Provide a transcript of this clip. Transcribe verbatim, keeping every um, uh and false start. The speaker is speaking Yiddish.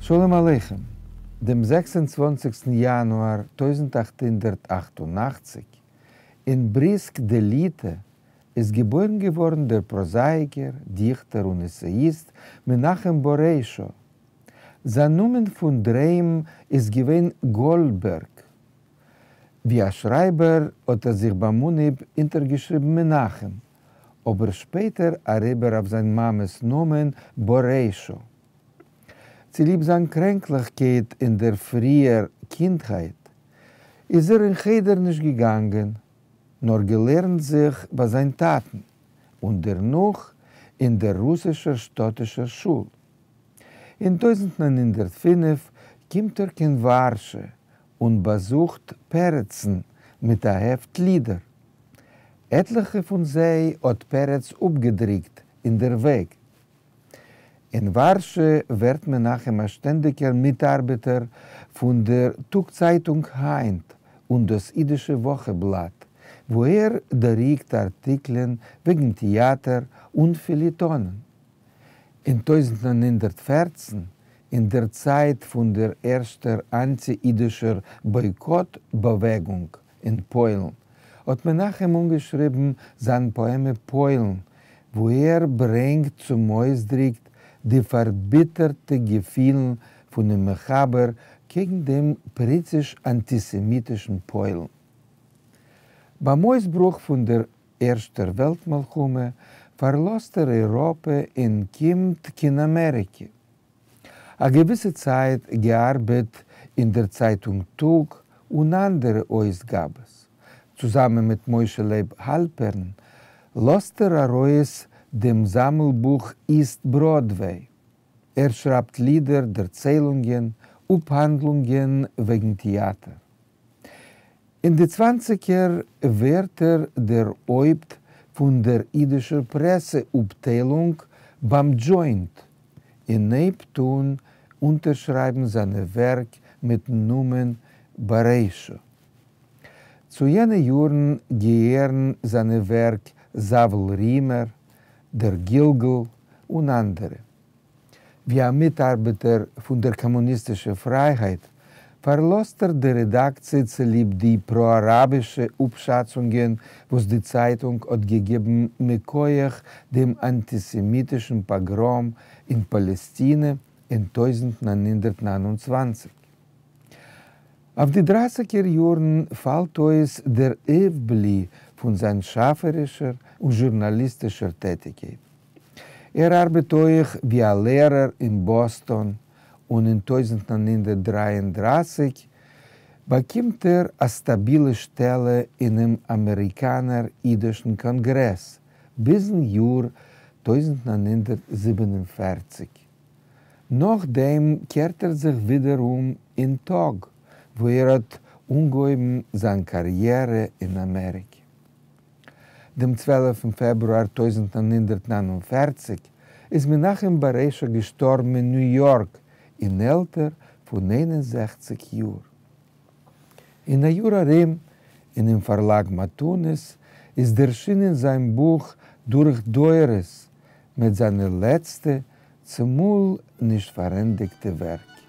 שלום עליכם. דעם זעקס און צוואַנציקסטן יאנואר טויזנט אַכט הונדערט אַכט און אַכציק אין בריסק דליטא איז געבוירן געווארן דער פראזאייקער, דיכטער און עסעיאיסט מנחם באריישא. זיין נאמען פון דר'היים איז געווען גאלדבערג. ווי א שרייבער האט ער זיך ביים אנהייב אונטערגעשריבן מנחם, אבער שפעטער אריבער אויף זיין מאמע'ס נאמען באריישא. צוליב זיין קרענקליכקייט אין דער פריער קינדהייט, איז ער אין חדר נישט געגאנגען, נאר געלערנט זיך ביי זיין טאטן, און דערנאך אין דער רוסישער שטאטישער שול. אין טויזנט נײַן הונדערט פֿינף קומט ער קיין ווארשע און באזוכט פרצן מיט א העפט לידער. עטליכע פון זיי האט פרץ אפגעדרוקט אין דער וועג. אין ווארשע ווערט מנחם א שטענדיגער מיטארבעטער פון דער טאג-צייטונג היינט און דאס אידישע וואכנבלאט, וואו ער דרוקט ארטיקלען וועגן טעאטער און פעליעטאנען. אין טויזנט נײַן הונדערט פֿערצן, אין דער צייט פון דער ערשטער אנטי-אידישער בויקאט-באוועגונג אין פוילן, האט מנחם אנגעשריבן זיין פאעמע פוילן, וואו ער ברענגט צום אויסדרוק די פארביטערטע געפילן פונעם מחבר קעגן דעם פריציש-אנטיסעמיטישן פוילן. ביים אויסברוך פון דער ערשטער וועלט-מלחמה פארלאזט ער אייראפע און קומט קיין אמעריקע. א געוויסע צייט געארבעט אין דער צייטונג טאג און אנדערע אויסגאבעס. צוזאמען מיט משה לייב האלפערן לאזט ער ארויס דעם זאמלבוך איסט בראדוועי. ער שרייבט לידער, דערציילונגען, אפהאנדלונגען וועגן טעאטער. אין די צוואנציגער ווערט ער דער הויפט פון דער אידישער פרעסע אפטיילונג ביים דזשוינט, און הייבט אן אונטערשרייבן זיינע ווערק מיטן נאמען באריישא. צו יענע יארן געהערן זיינע ווערק זאוול רימער, דער גלגול און אנדערע. ווי א מיטארבעטער פון דער קאמוניסטישער פרייהייט, פארלאזט ער די רעדאקציע צוליב די פרא-אראבישע אפשאצונגען וואס די צייטונג האט געגעבן מכוח דעם אנטיסעמיטישן פאגראם אין פאלעסטינע אין טויזנט נײַן הונדערט נײַן און צוואַנציק. אויף די דרייסיגער יארן פאלט אויס דער אויפבלי פון זיין שאפערישער און זשורנאליסטישער טעטיגקייט. ער ארבעט אויך ווי א לערער אין באסטאן, און אין טויזנט נײַן הונדערט דרײַ און דרײַסיק באקומט ער א סטאבילע שטעלע אינעם אמעריקאנער אידישן קאנגרעס ביזן יאר טויזנט נײַן הונדערט זיבן און פֿערציק. נאכדעם קערט ער זיך ווידער אום אין טאג, וואו ער האט אנגעהויבן זיין קאריערע אין אמעריקע. דעם צוועלפן פעברואר טויזנט נײַן הונדערט נײַן און פֿערציק איז מנחם באריישא געשטארבן אין ניו יארק אין עלטער פון איין און זעכציק יאר. אין א יאר ארום, אינעם פארלאג מתנות, איז ערשינען זיין בוך דורך דורות מיט זיינע לעצטע, צומאל נישט פארענדיגטע ווערק.